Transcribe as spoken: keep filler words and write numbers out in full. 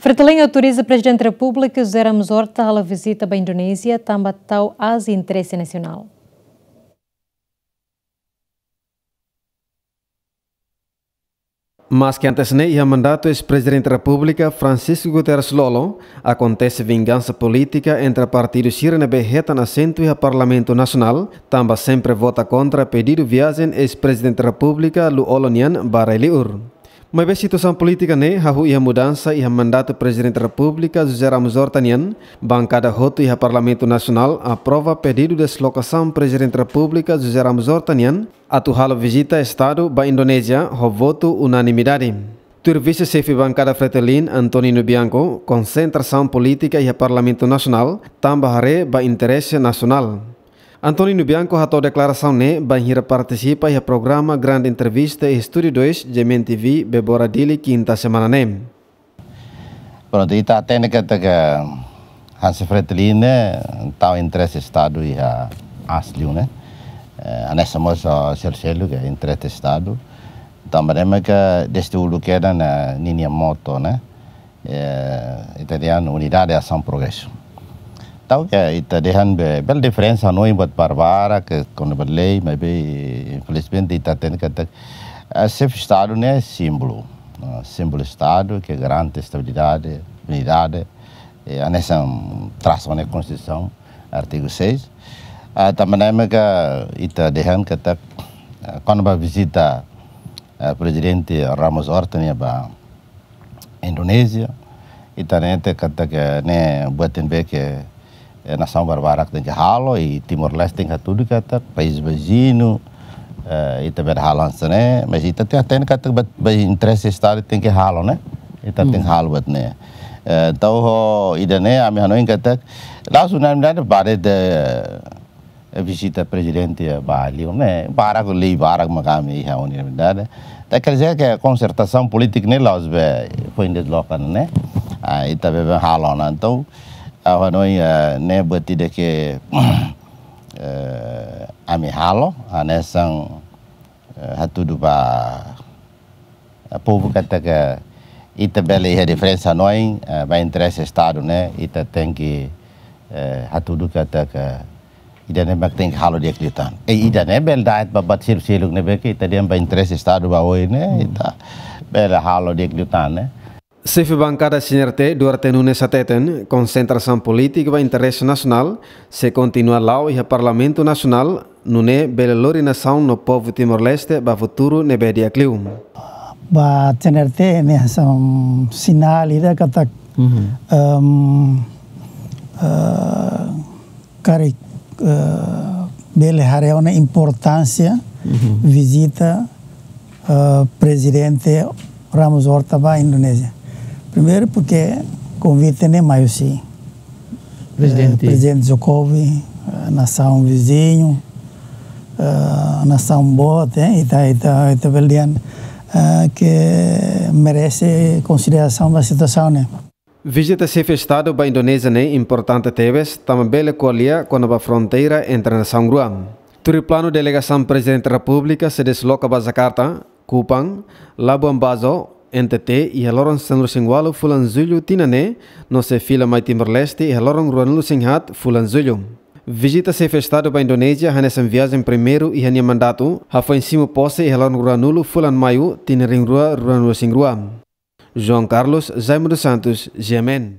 Fretilin autoriza Prezidente Repúblika José Ramos Horta halo vizita ba Indonézia tanba tau aas interese nasionál. Maske antes ne'e iha mandatu eis-Prezidente Repúblika Francisco Guterres Lú-Olo, akontese vingansa polítika entre partidu sira ne'ebé hetan asentu iha Parlamentu Nasionál, tanba sempre vota kontra pedidu viajen eis-Prezidente Repúblika Lú-Olo nian ba rai-liur. Maibé situasaun polítika ne'e hahú iha mudansa iha mandatu Prezidente Repúblika José Ramos Horta nian, bankada hotu iha Parlamentu Nasionál aprova pedidu deslokasaun Prezidente Repúblika José Ramos Horta nian atu halo vizita Estadu ba Indonézia ho votu unanimidade. Tuir vise-xefe bankada Fretilin, Antonino Bianco, konsentrasaun polítika iha Parlamentu Nasionál tanba haree ba interese nasionál. Antonino Bianco hato'o deklarasaun ne'e bainhira partisipa iha programa Grande Entrevista iha Estúdiu dois, G M N T V, Bebora Dili, kinta semana ne'e. Prontu, ita hatene katak hanesan Fretilin ne'e tau interese Estadu iha aas liu ne'e. Eh, hanesan mós, ah, selu-seluk ke interese Estadu. Tanba ne'e mak dezde uluk kedas ninia moto ne'e. Eh, ita dehan unidade, asaun, progresu. Tau ke ita dehan be, bele diferensa no imbuat barbara ke kona-ba lei, maibé infelizmente ita hatene katak, eh, xefe Estadu ne'e símbolu. Ah, símbolu Estadu ke garante estabilidade, unidade, eh, hanesan trasu ona Konstituisaun, artigu seis. Ah, tanba ne'e mak ita dehan katak, ah, kona-ba vizita, ah, Prezidente Ramos Horta nian ba Indonézia, ita hatene katak ne'e buat ne'ebé ke, eh, nasaun barbarak tenke halo, i Timor-Leste tenke hatudu katak país viziñu, eh, ita bele halo hanesan ne'e, mas ita tenke hatene katak ba, ba interese Estadu tenke halo ne'e, ita tenke halo buat ne'e. Eh, entaun ho ida-ne'e ami hanoin katak, la'ós unanimidade ba de'it, eh, vizita Prezidente ba liu ne'e, barak, lei barak mak ami iha unanimidade. Ita quer dizer que konsentrasaun polítika ne'e la'ós be foin desloka ne'e. Ah, ita be, be halo ona. Entaun, ah, hanoin, ah, ne'e buat ida ke, eh, ami halo, hanesan, eh, hatudu ba, eh, povu katak ita bele iha diferensa hanoin, eh, ba interese Estadu ne'e, ita tenke, eh, hatudu katak ida-ne'e mak tenke halo di'ak liután. Eh, ida-ne'e bele da'et ba buat selu-seluk ne'ebé ke ita dehan ba interese Estadu ba oin ne'e, ita bele halo di'ak liután ne'e. Xefe bankada C N R T, Duarte Nunes hateten, konsentrasaun polítika ba interese nasionál sei kontinua la'o iha Parlamentu Nasionál, nune'e bele lori nasaun no povu Timor-Leste ba futuru ne'ebé di'ak liu. Ba C N R T ne'e hanesan sinál ida katak, em, eh, karik, eh, bele haree ona importánsia vizita, eh, Prezidente Ramos Horta ba Indonézia. Primeiru, porke konvite ne'e mai husi, eh, Prezidente Jokowi, eh, nasaun viziñu, eh, nasaun boot, eh, ita, ita, ita bele dehan, eh, ke merese konsiderasaun ba situasaun ne'e. Vizita Xefe Estadu ba Indonézia ne'e importante tebes, tanba bele ko'alia kona-ba fronteira entre nasaun rua. Tuir planu, delegasaun Prezidente Repúblika sei desloka ba Jakarta, Kupang, Labuan Bajo, N T T, iha loron sanulu-resin-ualu fulan Jullu tinan ne'e, no sei fila mai Timor-Leste iha loron ruanulu-resin-haat fulan Jullu. Vizita Xefe Estadu ba Indonézia hanesan viajen primeiru iha nia mandatu, hafoin simu pose iha loron ruanulu fulan Maiu tinan rihun rua ruanulu-resin-rua. João Carlos, Jaime dos Santos, G M N.